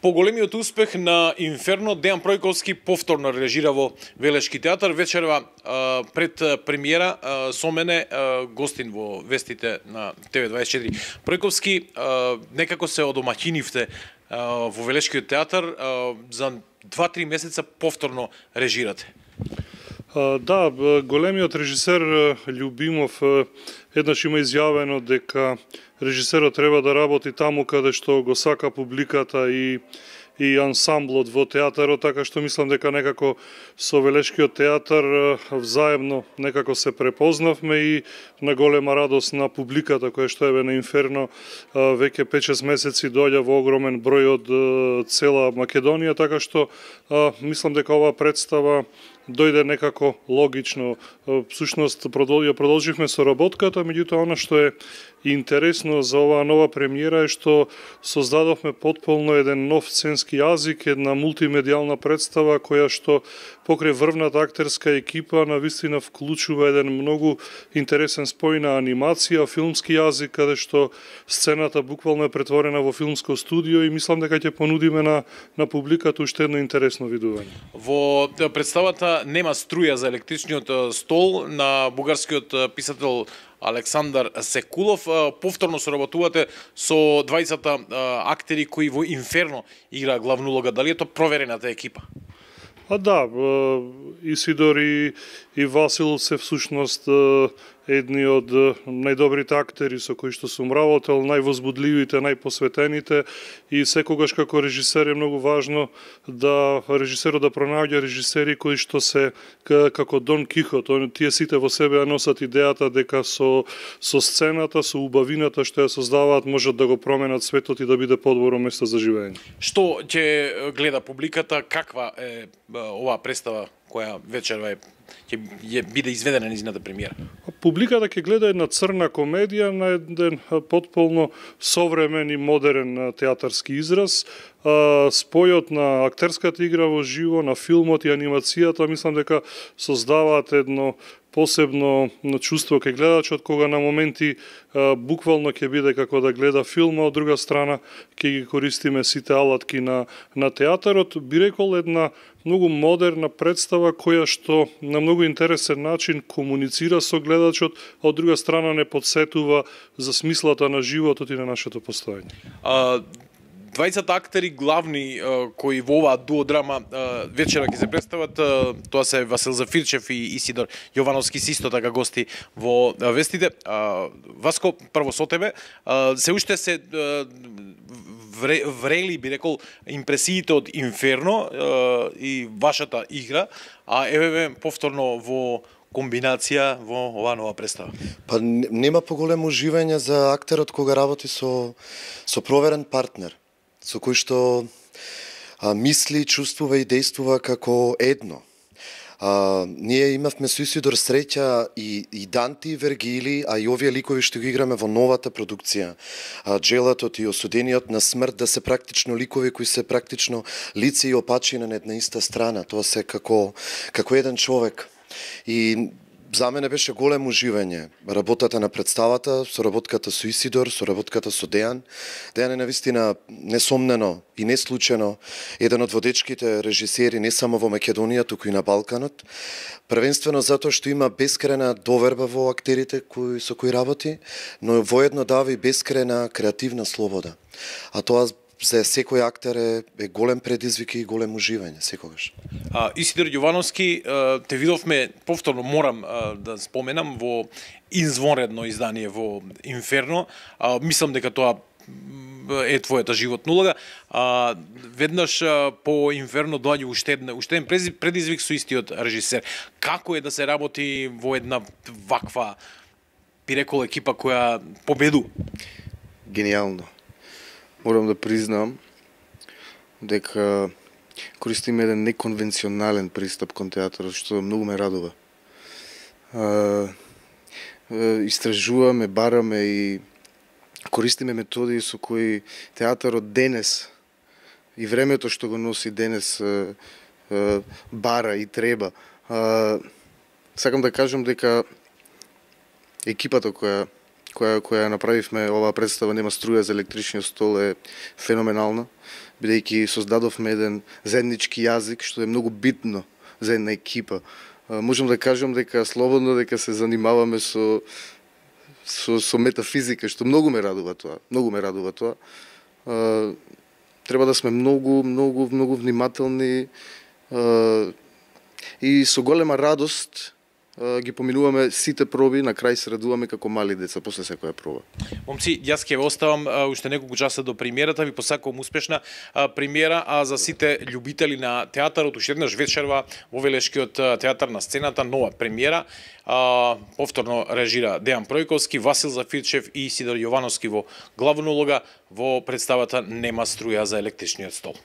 По големиот успех на Инферно, Дејан Пројковски повторно режира во Велешки театар. Вечерва пред премиера со мене гостин во вестите на ТВ24. Пројковски, некако се одомаќинивте во Велешкиот театар, за 2-3 месеца повторно режирате. Да, големиот режисер Љубимов еднаш има изјавено дека режисерот треба да работи таму каде што го сака публиката и ансамблот во театарот, така што мислам дека некако со Велешкиот театар взаемно некако се препознавме и на голема радост на публиката која што е на Инферно веќе 5-6 месеци доаѓа во огромен број од цела Македонија, така што мислам дека оваа представа дојде некако логично. Всушност ја продолживме соработката, меѓутоа она што е интересно за оваа нова премиера е што создадовме потполно еден нов сценски јазик, една мултимедијална представа која што покрај врвната актерска екипа навистина вклучува еден многу интересен спој на анимација, филмски јазик, каде што сцената буквално е претворена во филмско студио и мислам дека ќе понудиме на публиката уште едно интересно видување. Во представата нема струја за електричниот стол на бугарскиот писател Александар Секулов. Повторно соработувате со двајцата актери кои во Инферно игра главна улога. Дали е тоа проверената екипа? Да, Исидор и Васил се всушност едни од најдобрите актери со кои што сум работел, највозбудливите, најпосветените и секогаш како режисер е многу важно да режисерот да пронаоѓа режисери кои што се како Дон Кихот, тие сите во себе носат идејата дека со сцената, со убавината што ја создаваат можат да го променат светот и да биде подобро место за живење. Што ќе гледа публиката, каква е оваа представа која вечерва ќе биде изведена низината премиера? Публиката ќе гледа една црна комедија на еден потполно современ и модерен театарски израз. Спојот на актерската игра во живо, на филмот и анимацијата, мислам дека создаваат едно посебно чувство кај гледачот, кога на моменти буквално ќе биде како да гледа филм, а од друга страна ќе ги користиме сите алатки на театарот. Би рекол една многу модерна представа која што на многу интересен начин комуницира со гледачот, а од друга страна не подсетува за смислата на животот и на нашето постоење. Двајцата актери главни кои во оваа дуодрама вечера ќе се представат, тоа се Васил Зафирчев и Исидор Јовановски, исто така гости во вестите. Васко, прво со тебе, се уште се врели, би рекол, импресиите од Инферно и вашата игра, а еве повторно во комбинација во оваа нова представа. Па нема поголемо уживање за актерот кога работи со проверен партнер, со кој што мисли, чувствува и действува како едно. Ние имавме со Исидор среќа и Данти, и Вергили, а и овие ликови што ги играме во новата продукција, Джелатот и Осудениот на смрт, да се практично ликови кои се практично лице и опачина на една иста страна. Тоа се како еден човек. И за мене беше големо уживање работата на представата, соработката со Исидор, соработката со Дејан. Дејан е навистина несомнено и не случајно еден од водечките режисери не само во Македонија, туку и на Балканот. Првенствено затоа што има бескрајна доверба во актерите со кои работи, но воедно дава и бескрајна креативна слобода. А тоа за секој актер е голем предизвик и голем уживање секогаш. Исидор Јовановски, те видовме повторно, морам да споменам, во извонредно издание во Инферно. Мислам дека тоа е твојата животна улога. Веднаш по Инферно доаѓа уште еден предизвик со истиот режисер. Како е да се работи во една ваква, би рекол, екипа која победу? Гениално. Морам да признам дека користиме еден неконвенционален пристап кон театарот, што многу ме радува. Истражуваме, бараме и користиме методи со кои театарот денес и времето што го носи денес бара и треба. Сакам да кажам дека екипата која која ја направивме, оваа представа Нема струја за електричниот стол е феноменална, бидејќи создадовме еден заеднички јазик, што е многу битно за една екипа. Можам да кажам дека слободно дека се занимаваме со метафизика, што многу ме радува тоа. Треба да сме многу внимателни и со голема радост ги поминуваме сите проби, на крај се радуваме како мали деца после секоја проба. Момци, јас ќе ве оставам уште неколку часа до премиерата, ви посакувам успешна премиера, а за сите љубители на театарот уште еднаш вечерва во Велешкиот театар на сцената нова премиера. Повторно режира Дејан Пројковски, Васил Зафирчев и Сидор Јовановски во главна улога во представата Нема струја за електричниот стол.